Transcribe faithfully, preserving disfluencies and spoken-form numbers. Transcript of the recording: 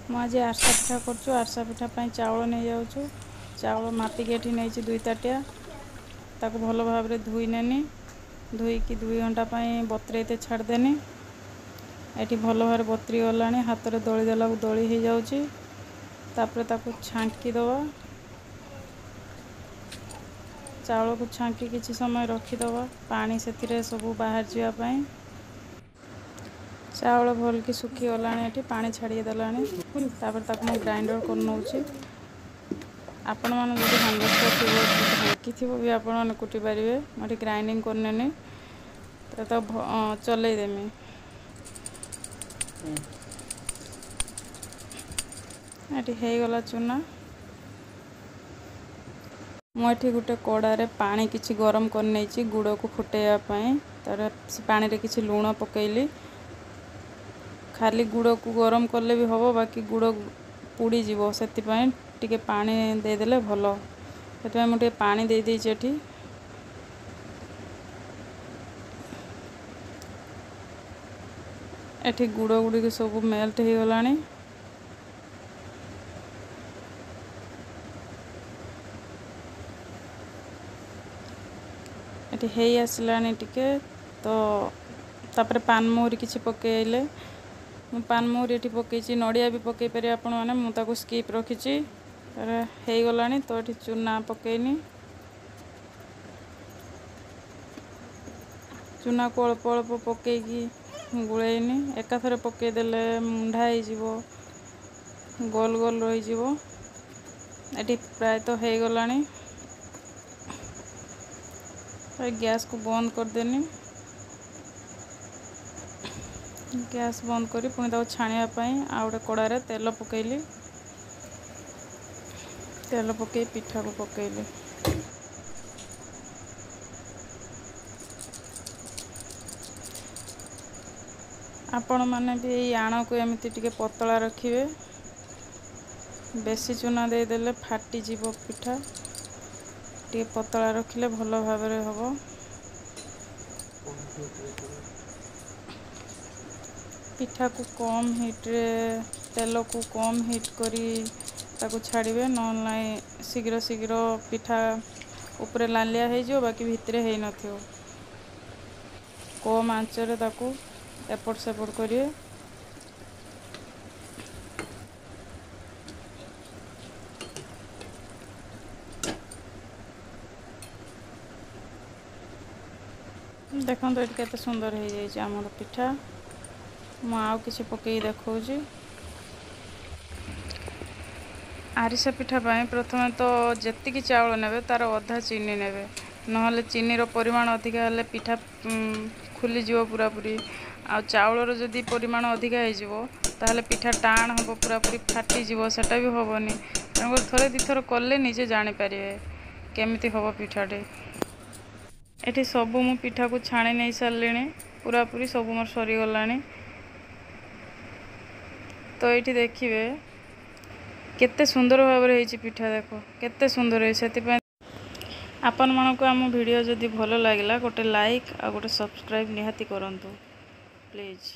ମୁଁ ଆଜି ଆରିସା ପିଠା କରୁଛୁ। ଆରିସା ପିଠା ପାଇଁ ଚାଉଳ ନେଇଯାଉଛୁ। ଚାଉଳ ମାପିକି ଏଠି ନେଇଛି ଦୁଇ ତାଟିଆ। ତାକୁ ଭଲ ଭାବରେ ଧୋଇ ନେନି। ଧୋଇକି ଦୁଇ ଘଣ୍ଟା ପାଇଁ ବତୁରେଇତେ ଛାଡ଼ିଦେନି। ଏଠି ଭଲ ଭାବରେ ବତୁରି ଗଲାଣି। ହାତରେ ଦଳି ଦେଲାକୁ ଦଳି ହେଇଯାଉଛି। ତାପରେ ତାକୁ ଛାଙ୍କି ଦେବା। ଚାଉଳକୁ ଛାଙ୍କି କିଛି ସମୟ ରଖିଦେବା, ପାଣି ସେଥିରେ ସବୁ ବାହାରି ଯିବା ପାଇଁ। ଚାଉଳ ଭଲକି ଶୁଖିଗଲାଣି, ଏଠି ପାଣି ଛାଡ଼ି ଦେଲାଣି। ତାପରେ ତାକୁ ମୁଁ ଗ୍ରାଇଣ୍ଡର କରି ନେଉଛି। ଆପଣମାନେ ଯଦି ହେମଦସ୍ତା ଥିବ, ଢିଙ୍କି ଥିବ ବି ଆପଣମାନେ କୁଟି ପାରିବେ। ମୁଁ ଏଠି ଗ୍ରାଇଣ୍ଡିଙ୍ଗ କରିନେନି, ତ ତାକୁ ଚଲେଇଦେମି। ଏଠି ହେଇଗଲା ଚୁନା। ମୁଁ ଏଠି ଗୋଟେ କଡ଼ାରେ ପାଣି କିଛି ଗରମ କରିନେଇଛି ଗୁଡ଼କୁ ଫୁଟେଇବା ପାଇଁ। ତାପରେ ସେ ପାଣିରେ କିଛି ଲୁଣ ପକେଇଲି। ଖାଲି ଗୁଡ଼କୁ ଗରମ କଲେ ବି ହେବ, ବାକି ଗୁଡ଼ ପୋଡ଼ିଯିବ, ସେଥିପାଇଁ ଟିକେ ପାଣି ଦେଇଦେଲେ ଭଲ। ସେଥିପାଇଁ ମୁଁ ଟିକେ ପାଣି ଦେଇଦେଇଛି ଏଠି। ଏଠି ଗୁଡ଼ ଗୁଡ଼ିକ ସବୁ ମେଲ୍ଟ ହେଇଗଲାଣି। ଏଠି ହେଇ ଆସିଲାଣି ଟିକେ ତ। ତାପରେ ପାନମହୁରି କିଛି ପକେଇଲେ। ମୁଁ ପାନମହୁରି ଏଠି ପକେଇଛି, ନଡ଼ିଆ ବି ପକେଇ ପାରିବେ ଆପଣମାନେ। ମୁଁ ତାକୁ ସ୍କିପ୍ ରଖିଛି। ହେଇଗଲାଣି ତ, ଏଠି ଚୁନା ପକେଇନି। ଚୁନାକୁ ଅଳ୍ପ ଅଳ୍ପ ପକେଇକି ଗୋଳେଇନି। ଏକାଥରେ ପକେଇଦେଲେ ମୁଣ୍ଡା ହେଇଯିବ, ଗୋଲ ଗୋଲ ରହିଯିବ। ଏଠି ପ୍ରାୟତଃ ହେଇଗଲାଣି। ଗ୍ୟାସ୍କୁ ବନ୍ଦ କରିଦେନି। ଗ୍ୟାସ୍ ବନ୍ଦ କରି ପୁଣି ତାକୁ ଛାଣିବା ପାଇଁ ଆଉ ଗୋଟେ କଡ଼ାରେ ତେଲ ପକେଇଲି। ତେଲ ପକେଇ ପିଠାକୁ ପକେଇଲି। ଆପଣମାନେ ବି ଏଇ ଆଣକୁ ଏମିତି ଟିକେ ପତଳା ରଖିବେ। ବେଶୀ ଚୁନା ଦେଇଦେଲେ ଫାଟିଯିବ ପିଠା। ଟିକେ ପତଳା ରଖିଲେ ଭଲ ଭାବରେ ହେବ। ପିଠାକୁ କମ୍ ହିଟ୍ରେ, ତେଲକୁ କମ୍ ହିଟ୍ କରି ତାକୁ ଛାଡ଼ିବେ, ନହେଲେ ନାହିଁ ଶୀଘ୍ର ଶୀଘ୍ର ପିଠା ଉପରେ ଲାଲିଆ ହେଇଯିବ, ବାକି ଭିତରେ ହେଇନଥିବ। କମ୍ ଆଞ୍ଚରେ ତାକୁ ଏପଟ ସେପଟ କରିବେ। ଦେଖନ୍ତୁ, ଏଠି କେତେ ସୁନ୍ଦର ହେଇଯାଇଛି ଆମର ପିଠା। ମୁଁ ଆଉ କିଛି ପକେଇକି ଦେଖାଉଛି। ଆରିସା ପିଠା ପାଇଁ ପ୍ରଥମେ ତ ଯେତିକି ଚାଉଳ ନେବେ ତାର ଅଧା ଚିନି ନେବେ, ନହେଲେ ଚିନିର ପରିମାଣ ଅଧିକା ହେଲେ ପିଠା ଖୁଲିଯିବ ପୁରାପୁରି। ଆଉ ଚାଉଳର ଯଦି ପରିମାଣ ଅଧିକା ହେଇଯିବ, ତାହେଲେ ପିଠା ଟାଣ ହେବ, ପୁରାପୁରି ଫାଟିଯିବ, ସେଟା ବି ହେବନି। ତେଣୁକରି ଥରେ ଦୁଇଥର କଲେ ନିଜେ ଜାଣିପାରିବେ କେମିତି ହେବ ପିଠାଟି। ଏଠି ସବୁ ମୁଁ ପିଠାକୁ ଛାଣି ନେଇ ସାରିଲିଣି, ପୁରାପୁରି ସବୁ ମୋର ସରିଗଲାଣି। ତ ଏଇଠି ଦେଖିବେ କେତେ ସୁନ୍ଦର ଭାବରେ ହେଇଛି ପିଠା। ଦେଖ କେତେ ସୁନ୍ଦର ହେଇଛି। ସେଥିପାଇଁ ଆପଣମାନଙ୍କୁ ଆମ ଭିଡ଼ିଓ ଯଦି ଭଲ ଲାଗିଲା, ଗୋଟେ ଲାଇକ୍ ଆଉ ଗୋଟେ ସବସ୍କ୍ରାଇବ୍ ନିହାତି କରନ୍ତୁ ପ୍ଲିଜ୍।